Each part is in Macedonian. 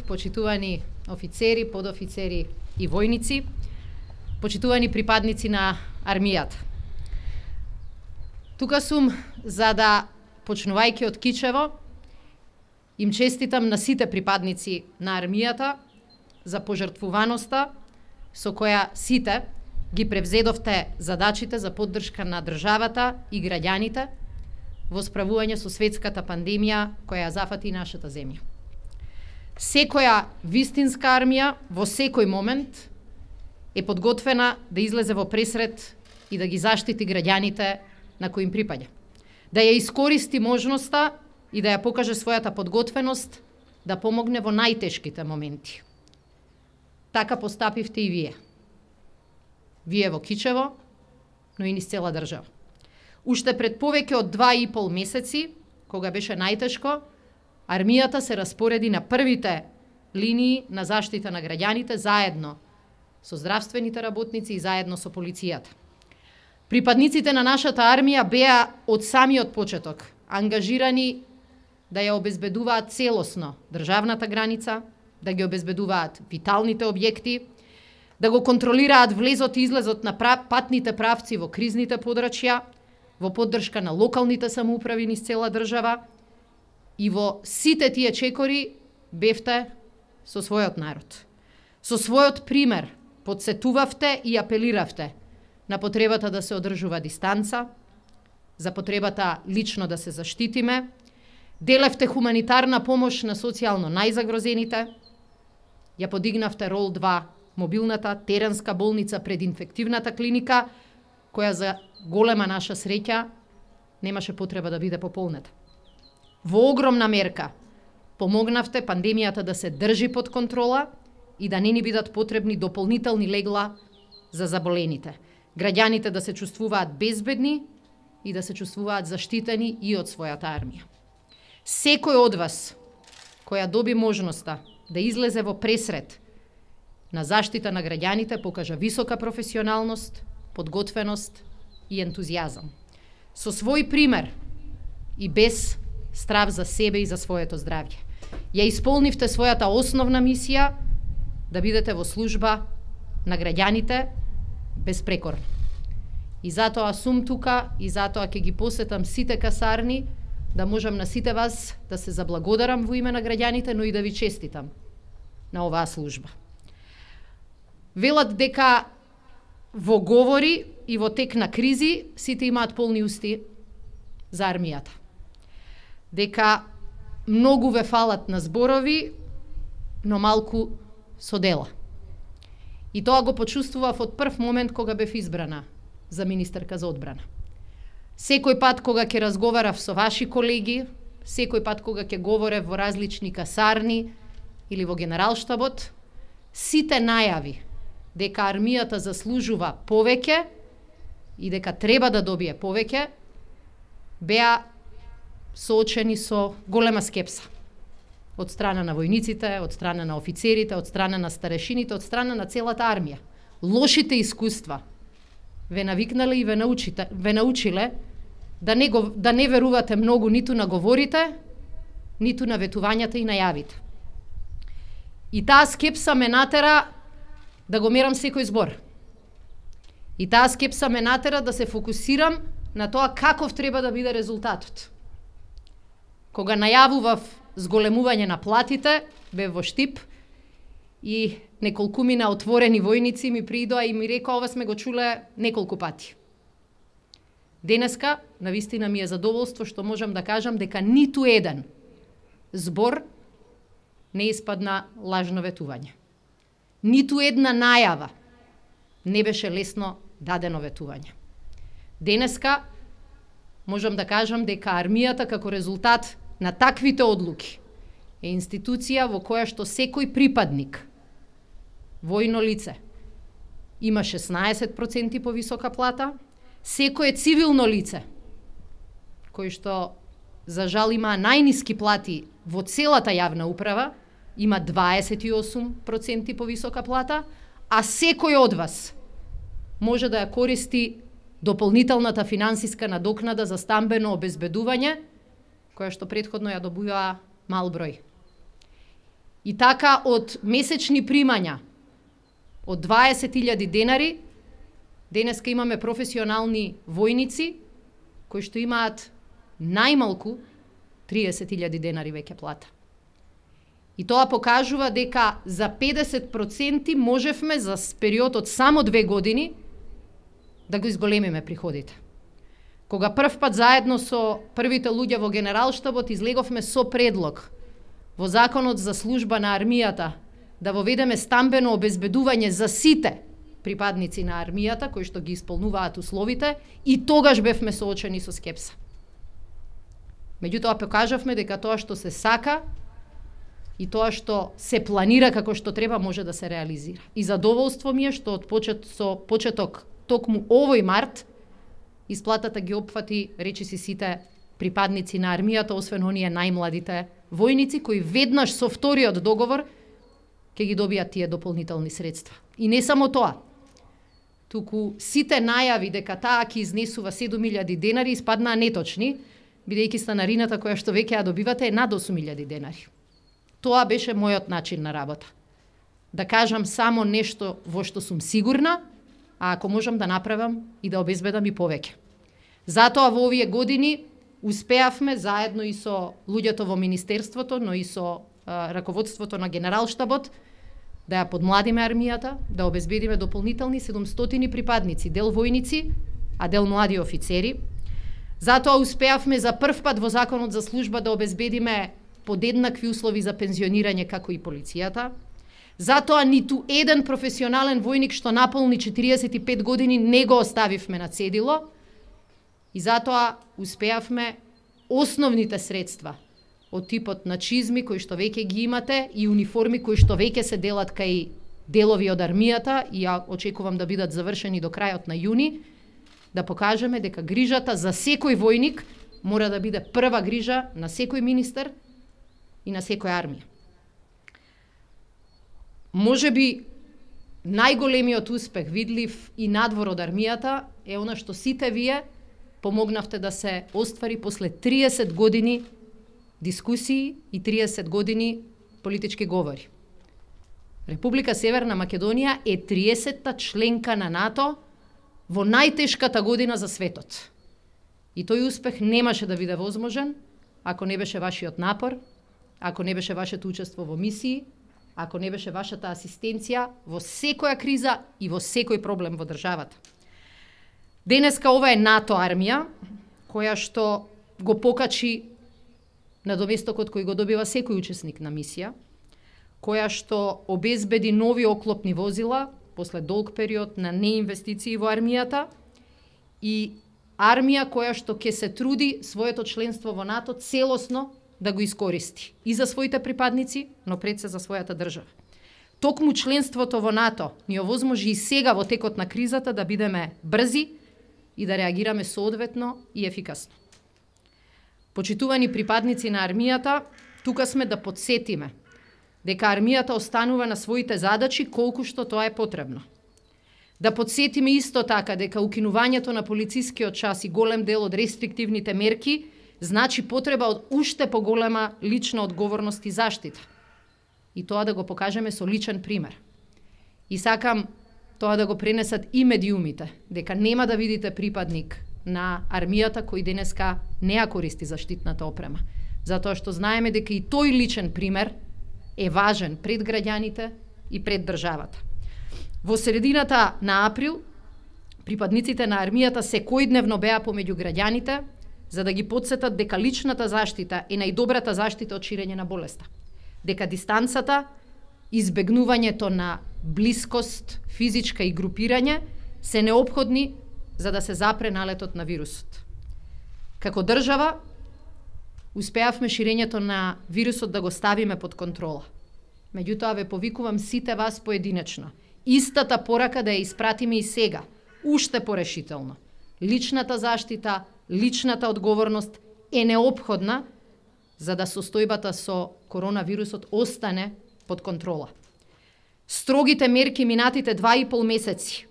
почитувани офицери, подофицери и војници, почитувани припадници на армијата. Тука сум за да, почнувајќи од Кичево, им честитам на сите припадници на армијата за пожртвуваноста со која сите ги превзедовте задачите за поддршка на државата и граѓаните во справување со светската пандемија која ја зафати нашата земја. Секоја вистинска армија во секој момент е подготвена да излезе во пресрет и да ги заштити граѓаните на кои им припаѓа. Да ја искористи можноста и да ја покаже својата подготвеност да помогне во најтешките моменти. Така постапивте и вие. Вие во Кичево, но и низ цела држава. Уште пред повеќе од 2,5 месеци, кога беше најтешко, армијата се распореди на првите линии на заштита на граѓаните заедно со здравствените работници и заедно со полицијата. Припадниците на нашата армија беа од самиот почеток ангажирани да ја обезбедуваат целосно државната граница, да ги обезбедуваат виталните објекти, да го контролираат влезот и излезот на патните правци во кризните подрачја, во поддршка на локалните самоуправи низ цела држава, и во сите тие чекори бевте со својот народ. Со својот пример подсетувавте и апелиравте на потребата да се одржува дистанца, за потребата лично да се заштитиме, делевте хуманитарна помош на социјално најзагрозените, ја подигнавте рол 2 мобилната теренска болница пред инфективната клиника, која за голема наша среќа немаше потреба да биде пополнета. Во огромна мерка помогнавте пандемијата да се држи под контрола и да не ни бидат потребни дополнителни легла за заболените. Граѓаните да се чувствуваат безбедни и да се чувствуваат заштитени и од својата армија. Секој од вас која доби можноста да излезе во пресрет на заштита на граѓаните покажа висока професионалност, подготвеност и ентузијазам. Со свој пример и без страв за себе и за своето здравје. Ја исполнивте својата основна мисија да бидете во служба на граѓаните безпрекорно. И затоа сум тука и затоа ќе ги посетам сите касарни да можам на сите вас да се заблагодарам во име на граѓаните, но и да ви честитам на оваа служба. Велат дека во говори и во тек на кризи сите имаат полни усти за армијата. Дека многу ве фалат на зборови, но малку со дела. И тоа го почувствував од прв момент кога бев избрана за министерка за одбрана. Секој пат кога ќе разговарав со ваши колеги, секој пат кога ќе говорев во различни касарни или во генералштабот, сите најави дека армијата заслужува повеќе и дека треба да добие повеќе, беа соочени со голема скепса од страна на војниците, од страна на офицерите, од страна на старешините, од страна на целата армија. Лошите искуства ве навикнале и ве научиле да не верувате многу ниту на говорите, ниту на ветувањата и најавите. И таа скепса ме натера да го мерам секој збор. И таа скепса ме натера да се фокусирам на тоа каков треба да биде резултатот. Кога најавував зголемување на платите, бев во штип и неколкумина отворени војници ми придоа и ми рекоа ова сме го чуле неколку пати. Денеска, навистина ми е задоволство што можам да кажам дека ниту еден збор не испадна лажно ветување. Ниту една најава не беше лесно дадено ветување. Денеска можам да кажам дека армијата како резултат на таквите одлуки е институција во која што секој припадник, војно лице, има 16% повисока плата, секое цивилно лице, кој што за жал има најниски плати во целата јавна управа, има 28% повисока плата, а секој од вас може да ја користи дополнителната финансиска надокнада за стамбено обезбедување, која што претходно ја добива мал број. И така од месечни примања од 20.000 денари, денеска имаме професионални војници кои што имаат најмалку 30.000 денари веќе плата. И тоа покажува дека за 50% можевме за период од само 2 години да го изголемиме приходите. Кога прв пат заедно со првите луѓе во Генералштабот излеговме со предлог во Законот за служба на армијата да воведеме стамбено обезбедување за сите припадници на армијата кои што ги исполнуваат условите, и тогаш бевме соочени со скепса. Меѓутоа покажавме дека тоа што се сака и тоа што се планира како што треба може да се реализира. И задоволство ми е што од почеток токму овој март исплатата ги опфати речиси сите припадници на армијата, освен оние најмладите војници кои веднаш со вториот договор ќе ги добијат тие дополнителни средства. И не само тоа, туку сите најави дека таа ќе изнесува 7.000 денари испаднаа неточни, бидејќи станарината која што веќе ја добивате е над 8.000 денари. Тоа беше мојот начин на работа. Да кажам само нешто во што сум сигурна, а ако можам да направам и да обезбедам и повеќе. Затоа во овие години успеавме заедно и со луѓето во Министерството, но и со раководството на Генералштабот да ја подмладиме армијата, да обезбедиме дополнителни 700 припадници, дел војници, а дел млади офицери. Затоа успеавме за прв пат во Законот за служба да обезбедиме подеднакви услови за пензионирање како и полицијата. Затоа ниту еден професионален војник што наполни 45 години не го оставивме на цедило. И затоа успеавме основните средства од типот на чизми кои што веќе ги имате и униформи кои што веќе се делат кај делови од армијата и ја очекувам да бидат завршени до крајот на јуни, да покажеме дека грижата за секој војник мора да биде прва грижа на секој министер и на секоја армија. Можеби најголемиот успех видлив и надвор од армијата е она што сите вие помогнавте да се оствари после 30 години дискусии и 30 години политички говори. Република Северна Македонија е 30-та членка на НАТО во најтешката година за светот. И тој успех немаше да биде возможен ако не беше вашиот напор, ако не беше вашето учество во мисии, ако не беше вашата асистенција во секоја криза и во секој проблем во државата. Денеска ова е НАТО армија, која што го покачи на доместокот кој го добива секој учесник на мисија, која што обезбеди нови оклопни возила после долг период на неинвестиции во армијата и армија која што ќе се труди своето членство во НАТО целосно да го искористи и за своите припадници, но пред се за својата држава. Токму членството во НАТО ни овозможи и сега во текот на кризата да бидеме брзи и да реагираме соодветно и ефикасно. Почитувани припадници на армијата, тука сме да подсетиме дека армијата останува на своите задачи колку што тоа е потребно. Да подсетиме исто така дека укинувањето на полицискиот час и голем дел од рестриктивните мерки значи потреба од уште поголема лична одговорност и заштита. И тоа да го покажеме со личен пример. И сакам тоа да го пренесат и медиумите, дека нема да видите припадник на армијата кој денеска не ја користи заштитната опрема. Затоа што знаеме дека и тој личен пример е важен пред граѓаните и пред државата. Во средината на април, припадниците на армијата секојдневно беа помеѓу граѓаните за да ги потсетат дека личната заштита е најдобрата заштита од ширење на болеста. Дека дистанцата, избегнувањето на блискост, физичка и групирање се неопходни за да се запре налетот на вирусот. Како држава, успеавме ширењето на вирусот да го ставиме под контрола. Меѓутоа ве повикувам сите вас поединечно. Истата порака да ја испратиме и сега, уште порешително. Личната заштита, личната одговорност е неопходна за да состојбата со коронавирусот остане под контрола. Строгите мерки минатите 2,5 месеци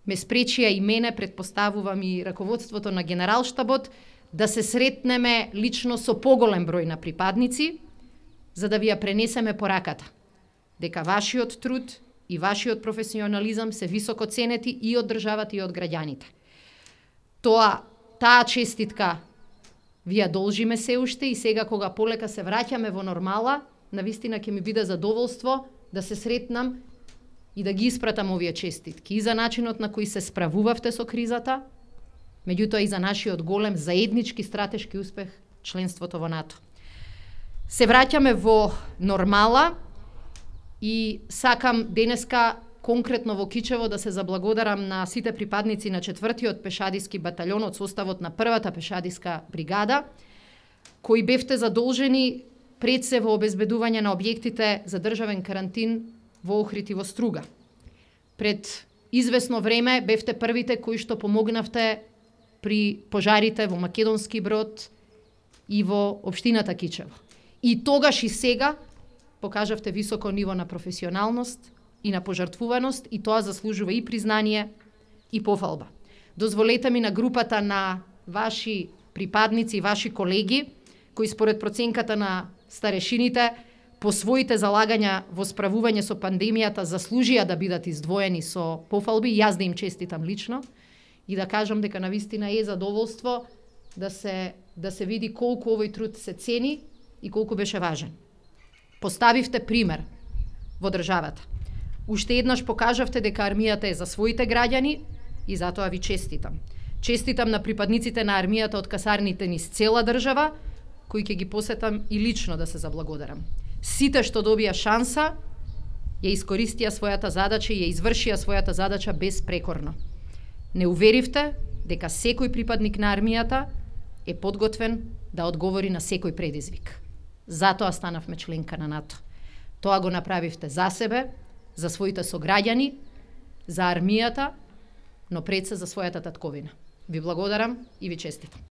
ме спречија и мене, предпоставувам и раководството на Генералштабот, да се сретнеме лично со поголем број на припадници, за да ви ја пренесеме пораката, дека вашиот труд и вашиот професионализам се високо ценети и од државата и од граѓаните. Таа честитка ви ја должиме се уште и сега кога полека се враќаме во нормала, навистина ќе ми биде задоволство да се сретнам и да ги испратам овие честитки и за начинот на кој се справувавте со кризата, меѓутоа и за нашиот голем заеднички стратешки успех членството во НАТО. Се враќаме во нормала и сакам денеска конкретно во Кичево да се заблагодарам на сите припадници на 4-тиот пешадиски баталјон од составот на 1-та пешадиска бригада, кои бевте задолжени пред се во обезбедување на објектите за државен карантин во Охрид и во Струга. Пред извесно време бевте првите кои што помогнавте при пожарите во Македонски Брод и во општината Кичево. И тогаш и сега покажавте високо ниво на професионалност и на пожртвуваност и тоа заслужува и признание и пофалба. Дозволете ми на групата на ваши припадници и ваши колеги, кои според проценката на старешините по своите залагања во справување со пандемијата заслужија да бидат издвоени со пофалби, јас да им честитам лично и да кажам дека навистина е задоволство да се види колку овој труд се цени и колку беше важен. Поставивте пример во државата. Уште еднаш покажавте дека армијата е за своите граѓани и затоа ви честитам. Честитам на припадниците на армијата од касарните низ цела држава, кои ќе ги посетам и лично да се заблагодарам. Сите што добија шанса, ја искористија својата задача и ја извршија својата задача безпрекорно. Не уверивте дека секој припадник на армијата е подготвен да одговори на секој предизвик. Затоа станавме членка на НАТО. Тоа го направивте за себе, за своите сограѓани, за армијата, но пред се за својата татковина. Ви благодарам и ви честитам.